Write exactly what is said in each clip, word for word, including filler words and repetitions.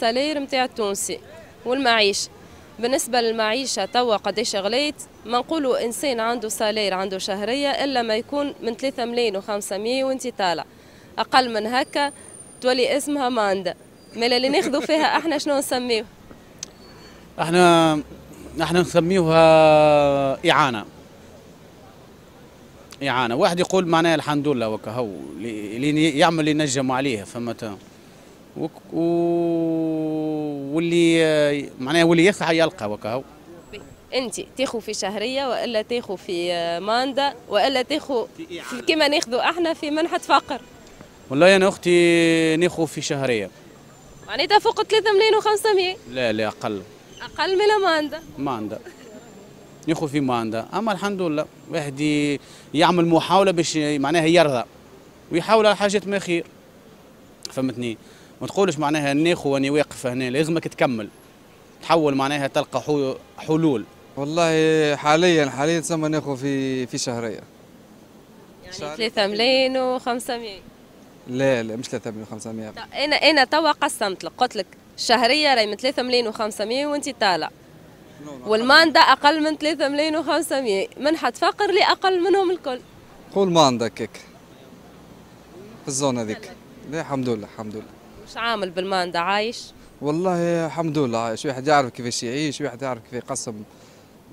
salaire نتاع التونسي والمعيشه. بالنسبة للمعيشه توا قداش غليت، ما نقولوا انسان عنده salaire عنده شهرية الا ما يكون من ثلاثة ملايين وخمسمية وانت طالع، اقل من هكا تولي اسمها mandat. مالا اللي ناخذوا فيها احنا شنو نسميوه؟ احنا احنا نسميوها اعانه. اعانه، واحد يقول معناها الحمد لله وكهو اللي يعمل اللي نجم عليه، فهمت؟ و... واللي معناها واللي يسعى يلقى وكهو. انت تاخذ في شهرية والا تاخذ في mandat والا تاخذ كما ناخذوا احنا في منحه فقر؟ والله انا اختي ناخذ في شهرية. معناتها فوق ثلاثة ملايين وخمسمية؟ لا لا اقل. اقل من mandat. mandat ناخذ في mandat، اما الحمد لله واحد يعمل محاولة باش معناها يرضى ويحاول على حاجات ما خير، فهمتني؟ ما تقولش معناها ناخذ واني واقف هنا، لازمك تكمل تحول معناها تلقى حلول. والله حاليا حاليا تسمى ناخذ في في شهرية يعني ثلاثة ملايين وخمسمية. لا لا مش ثلاثة ملايين وخمسمية. انا انا توا قسمت لك، قلت لك الشهرية راهي من ثلاثة ملايين وخمسمية وانت طالع، وال mandat اقل من ثلاثة ملايين وخمسمية، منحة فقر اللي اقل منهم الكل. قول mandat كيك في ال zone هذيك. لا الحمد لله الحمد لله. مش عامل بال mandat عايش؟ والله الحمد لله عايش، واحد يعرف كيفاش يعيش، واحد يعرف كيف يقسم،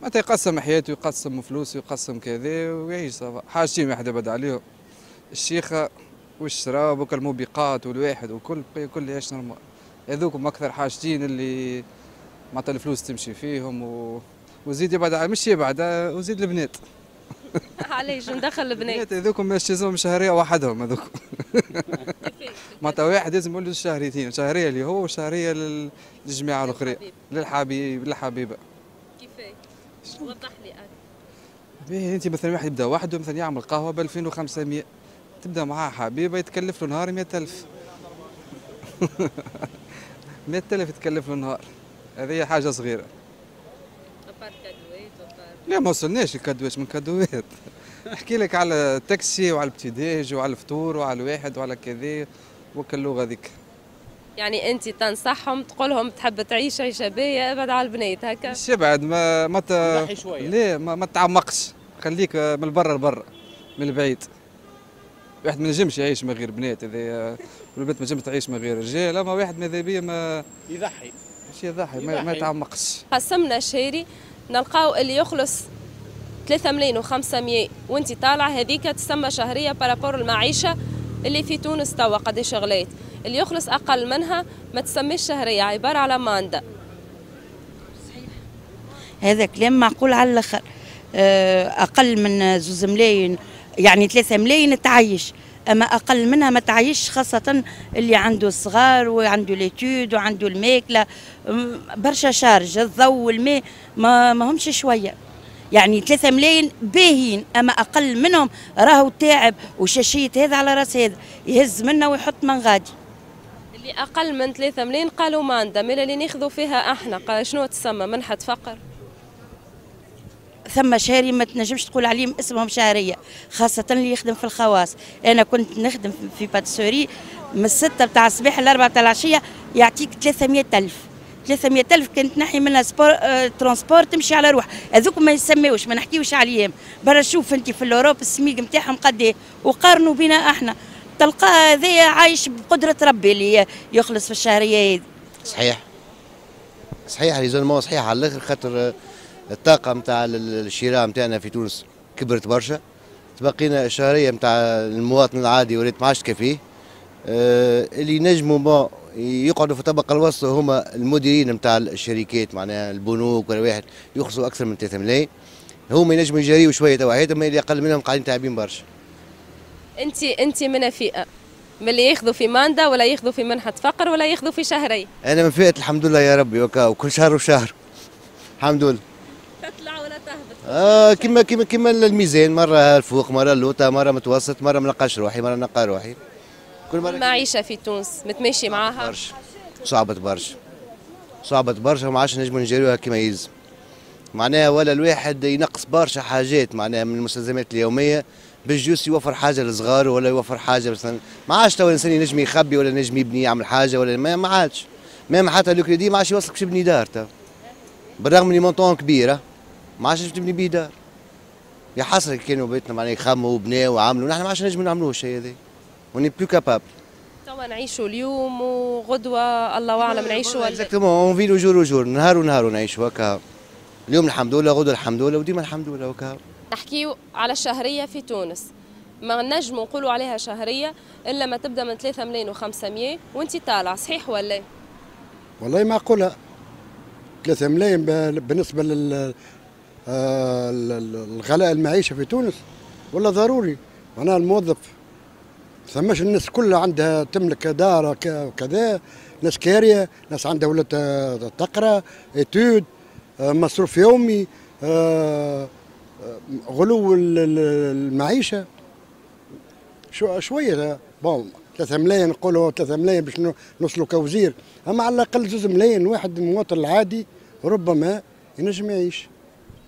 معناتها يقسم حياته يقسم فلوسه يقسم كذا ويعيش. حاجتين واحد يبعد عليهم، الشيخه والشراب وكل الموبقات والواحد وكل كل يعيش normal. هذوكم اكثر حاجتين اللي معناتها الفلوس تمشي فيهم و... وزيد يبعد، مش يبعد، وزيد البنات. علاش ندخل البنات؟ هذوكم مش لازم شهرية وحدهم هذوك. معناتها واحد لازم يقول له شهريتين، شهرية اللي هو وشهريه للجماعة الاخرين، للحبيب للحبيبه. كيفاش؟ وضح لي اكثر. باهي انت مثلا واحد يبدا وحده مثلا يعمل قهوة ب ألفين وخمسمية، تبدا معاه حبيبه يتكلف له نهار مية ألف. مية ألف يتكلف له نهار، هذه حاجة صغيرة. لا ما وصلناش الكادوات من كادوات. نحكي لك على التاكسي وعلى ال petit-déj وعلى الفطور وعلى الواحد وعلى كذا وكل اللغة هذيك. يعني انت تنصحهم تقول لهم تحب تعيش عيشه باهيه ابعد على البنات هكا؟ مش ابعد، ما ما ت... لا ما, ما تعمقش، خليك من برا لبرا من البعيد. واحد ما نجمش يعيش من غير بنات، هذا والبنت ما نجمش تعيش من غير رجال، اما واحد ماذا بيه ما يضحي، مش يضحي، ما, ما يتعمقش. قسمنا الشهري نلقاو اللي يخلص ثلاثة ملايين وخمسمية وانت طالع، هذيك تسمى شهرية par rapport المعيشة اللي في تونس توا قداش غليت. اللي يخلص اقل منها ما تسميش شهرية، عبارة على mandat. صحيح هذا كلام معقول على الاخر. اقل من زوز ملايين يعني ثلاثة ملايين تعيش، اما اقل منها ما تعيش، خاصة اللي عنده الصغار وعنده les études وعنده الماكلة برشا charges، الضوء والماء ما, ما همش شوية. يعني ثلاثة ملايين باهين، اما اقل منهم راهو تعب وشاشيه هذا على راس هذا، يهز منا ويحط من غادي. اللي اقل من ثلاثة ملايين قالوا mandat، مالا اللي ناخذوا فيها احنا قال شنو تسمى منحه فقر؟ ثم شهري ما تنجمش تقول عليهم اسمهم شهرية، خاصة اللي يخدم في الخواص. انا كنت نخدم في pâtisserie من الستة بتاع الصباح للأربعة بتاع العشية، يعطيك ثلاثمية ألف. ثلاثمية ألف كنت تنحي منها sport اه transport تمشي على روح، هذوك ما يسميوش، ما نحكيوش عليهم. برا شوف انت في l'Europe السميق نتاعهم قد ايه وقارنوا بينا احنا، تلقاه هذايا عايش بقدره ربي اللي يخلص في الشهرية هذه. صحيح صحيح raisonnement صحيح على الاخر، خاطر الطاقة نتاع الشراء نتاعنا في تونس كبرت برشا، تبقينا الشهرية نتاع المواطن العادي ولات ما عادش تكفيه. آه اللي نجموا يقعدوا في الطبقة الوسطى هما المديرين نتاع الشركات، معناها البنوك ولا واحد يخلصوا اكثر من ثلاثة ملايين، هما ينجموا يجاريوا شوية توا حياتهم، اللي اقل منهم قاعدين تعبين برشا. انت انت من فئة من اللي ياخذوا في mandat ولا ياخذوا في منحه فقر ولا ياخذوا في شهرية؟ انا من فئة الحمد لله يا ربي، وكل شهر وشهر الحمد لله. تطلع ولا تهبط؟ آه كما كما كما الميزان، مرة الفوق مرة اللوطه، مرة متوسط، مرة ما نلقاش روحي، مرة نلقى روحي. كل مرة المعيشة في تونس متماشي معاها؟ برشا صعبت برشا صعبت برشا وما عادش نجموا نجريوها كما يلزم. معناها ولا الواحد ينقص برشا حاجات معناها من المستلزمات اليومية باش juste يوفر حاجة لصغاره ولا يوفر حاجة مثلا. ما عادش تو الانسان ينجم يخبي ولا ينجم يبني يعمل حاجة ولا ما, ما عادش. même حتى le crédit ما عادش يوصلك باش تبني دار تا، بالرغم من montant كبيرة ما عادش تبني بيه دار. يا حسرة كانوا بيتنا معناها يخموا وبناو وعملوا، نحن ما عادش نجموا نعملوه الشيء هذا، on est plus capable. توا نعيشوا اليوم وغدوه الله اعلم نعيشوا ولا exactement، on vit le jour au jour، نهار ونهار ونعيشوا هكا. اليوم الحمد لله، غدوه الحمد لله، وديما الحمد لله وكا. نحكيو على الشهرية في تونس، ما نجموا نقولوا عليها شهرية الا ما تبدا من ثلاثة ملايين وخمسمية وانت طالع، صحيح ولا؟ والله معقولة ثلاثة ملايين بالنسبة لل الغلاء المعيشة في تونس، ولا ضروري معناها الموظف ثماش الناس كلها عندها تملك دار كذا، ناس كاريه، ناس عندها ولات تقرا études، مصروف يومي، غلو المعيشة شو شوية. bon ثلاثة ملايين نقولوا ثلاثة ملايين باش نوصلوا كوزير، اما على الاقل زوز ملايين واحد المواطن العادي ربما ينجم يعيش.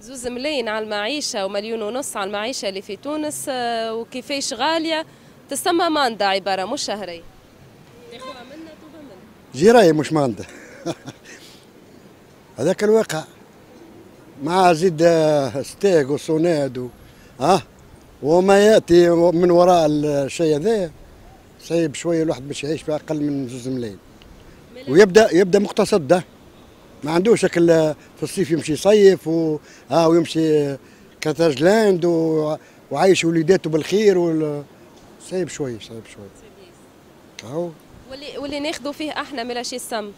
زوز ملايين على المعيشة ومليون ونص على المعيشة اللي في تونس، وكيفاش غالية تسمى mandat عبارة مش شهرية. تاخذها منا توبها منا. جرايه مش mandat. هذاك الواقع مع زيد ستاغ وصوناد و... اه وما ياتي من وراء الشيء هذا صعيب شوية الواحد باش يعيش باقل من زوز ملايين، ويبدا يبدا مقتصد ده. ما عندوش شكل في الصيف يمشي يصيف و... اه ويمشي كاتاجلاند و... وعايش وليداته بالخير وال... صعيب شوية صعيب شوية. اهو واللي واللي ناخذوا فيه احنا ملا شي السم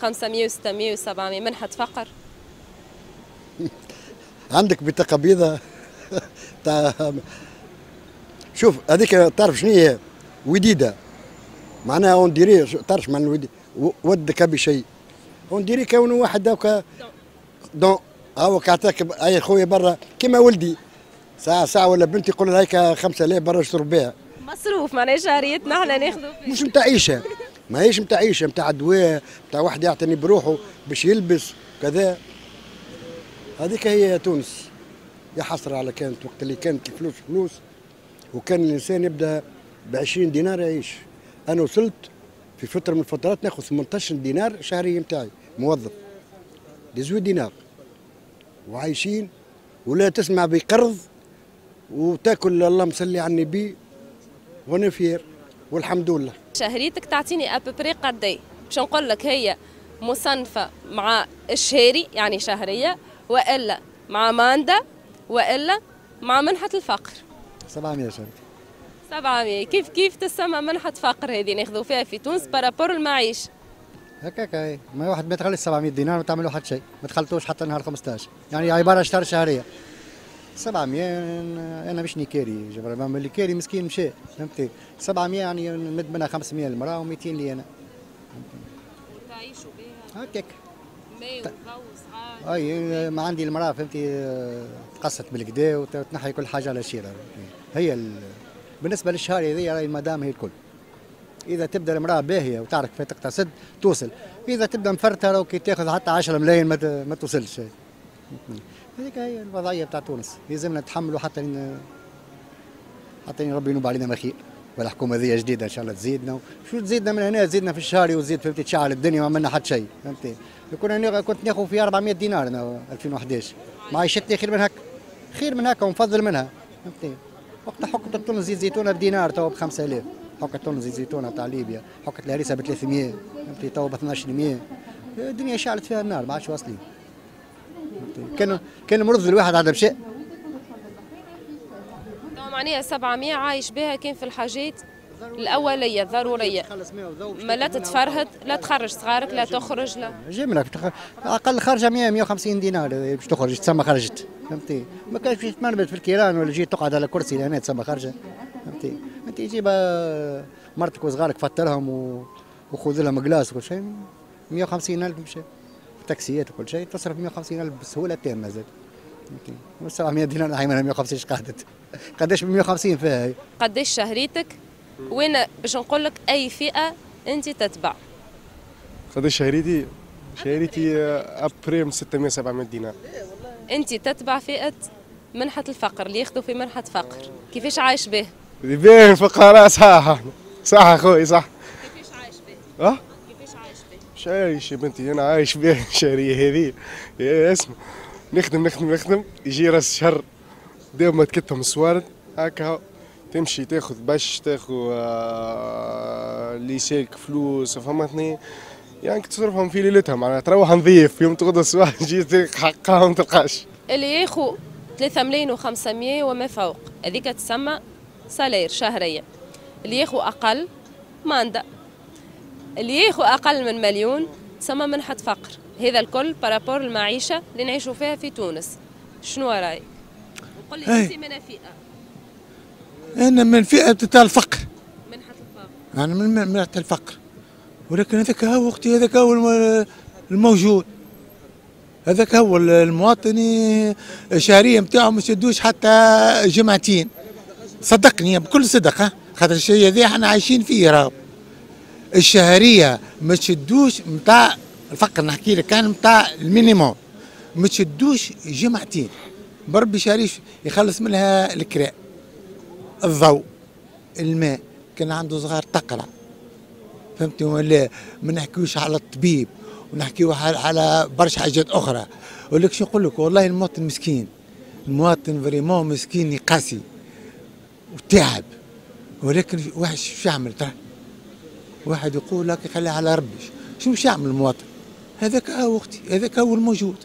خمسمية وستمية وسبعمية منحة فقر. عندك بطاقة بيضاء تاع شوف هذيك تعرف شنو هي وديده، معناها on dirait تعرف معنى ودي ودك بشيء، on dirait كونه واحد هكا don هاوك عطاك اي خويا برا كيما ولدي ساعة ساعة ولا بنتي يقول لها هيك خمسة آلاف برا اشتروا بها مصروف، معناها شهريتنا احنا ناخذوا فيه مش نتاع عيشه، ماهيش نتاع عيشه، نتاع دواء، نتاع واحد يعتني بروحه باش يلبس كذا. هذيك هي تونس يا حسرة على كانت وقت اللي كانت الفلوس فلوس، وكان الانسان يبدا ب عشرين دينار يعيش. انا وصلت في فترة من الفترات ناخذ ثمنطاش دينار شهرية نتاعي موظف، dix-huit دينار وعايشين، ولا تسمع بقرض وتاكل اللهم صلي على النبي وانا fier والحمد لله. شهريتك تعطيني à peu près قدي باش نقول لك هي مصنفه مع الشهري يعني شهرية، والا مع mandat، والا مع منحه الفقر؟ سبعمية شهريتي. سبعمية كيف كيف تسمى منحه فقر هذه ناخذوا فيها في تونس par rapport المعيشة؟ هكاك هي، ما واحد ما يتخلص سبعمية دينار ما تعملوا حتى شيء، ما تخلطوش حتى نهار خمسطاش، يعني عبارة شهر شهرية. سبعمية انا مش نكاري جبر اللي كاري مسكين مشى، فهمتي؟ سبعمية يعني نمد منها خمسمية للمراة ومئتين لي انا. تعيشوا بها؟ هكاك. ماء وضوء وصغار. اي ما عندي المراة فهمتي تقصت بالكدا وتنحي كل حاجة على شيره. هي ال... بالنسبة للشهر هذه راهي المدام هي الكل. اذا تبدا المراة باهيه وتعرف كيف تقتصد توصل، اذا تبدا مفرته راهو كي تاخذ حتى عشرة ملايين ما, ما توصلش. هذيك هي الوضعية بتاع تونس، لازمنا نتحملوا حتى ن... حتى ربي ينوب علينا ما خير، والحكومة ذي جديدة ان شاء الله تزيدنا، شو تزيدنا من هنا؟ تزيدنا في الشهر وتزيد فهمتي تشعل الدنيا ما عملنا حتى شيء، فهمتي؟ كنا كنت ناخذ في أربعمية دينار انا ألفين وأحداش، معيشتني خير من هكا، خير من هكا ونفضل منها، فهمتي؟ وقت حكة تونس زيت زيتونه بدينار تو ب خمسة آلاف، حكة تونس زيت زيتونه تاع ليبيا، حكة الهريسه ب ثلاثمية، فهمتي؟ تو ب اثناش مية، الدنيا شعلت فيها النار ما عادش واصلين. كان كان مرض الواحد عاد مشى. معناها سبعمية عايش بها كان في الحاجات الاولية الضرورية، ما لا تتفرهد لا تخرج صغارك لا تخرج لا جملة اقل خرجه مية مية وخمسين دينار باش تخرج تسمى خرجت، فهمتي؟ ما كانش باش تمرمد في الكيران ولا جيت تقعد على كرسي لهنا تسمى خرجه، فهمتي؟ انت جيب مرتك وصغارك فطرهم و... وخذ لهم glace وكل شيء مية وخمسين ألف مشى، تاكسيات وكل شيء تصرف مية وخمسين ألف بسهولة تامة زاد، فهمتي؟ سبعمية دينار نحي منها مية وخمسين اش قعدت؟ قداش ب مية وخمسين فيها هي؟ قداش شهريتك؟ وين باش نقول لك اي فئة انت تتبع؟ قداش شهريتي؟ شهريتي à peu près من ستمية سبعمية دينار. انت تتبع فئة منحه الفقر اللي ياخذوا في منحه فقر، كيفاش عايش به؟ باين فقراء صح صح اخوي صح. كيفاش عايش به؟ اه؟ كيفاش عايش به؟ مش عايش يا بنتي، انا عايش بها الشهرية هذه. يا اسمع، نخدم نخدم نخدم، يجي راس الشهر ديما تكتهم السوارد هكا، تمشي تاخذ باش تاخذ آه، اللي يسالك فلوس، فهمتني؟ يعني تصرفهم في ليلتها، معناها تروح نظيف، يوم تغدى الصباح تجي حقها ما تلقاش. اللي ياخو ثلاثة ملايين وخمسمية وما فوق هذيك تسمى salaire شهرية. اللي ياخو أقل mandat، اللي ياخو أقل من مليون تسمى منحة فقر. هذا الكل par rapport المعيشة اللي نعيشوا فيها في تونس. شنو رايك؟ وقل لي انت من فئة؟ أنا من فئة تاع الفقر. منحة الفقر. أنا من منحة الفقر، ولكن هذاك هو أختي، هذاك هو الموجود، هذاك هو المواطن الشهرية نتاعو ما يسدوش حتى جمعتين. صدقني بكل صدق، خاطر الشيء هذا احنا عايشين فيه. راهو الشهرية ما تشدوش نتاع الفقر، نحكي لك كان نتاع ال minimum ما تشدوش جمعتين. بربي شهريش يخلص منها الكراء، الضوء، الماء، كان عنده صغار تقرا، فهمتني ولا؟ ما نحكيوش على الطبيب ونحكيو على برشا حاجات اخرى. ولك شو نقول لك، والله المواطن مسكين، المواطن vraiment مسكين، قاسي وتعب، ولكن واحد شو يعمل؟ ترى واحد يقول لك خليها على ربي. شو مش يعمل المواطن؟ هذاك هو اختي، هذاك هو الموجود.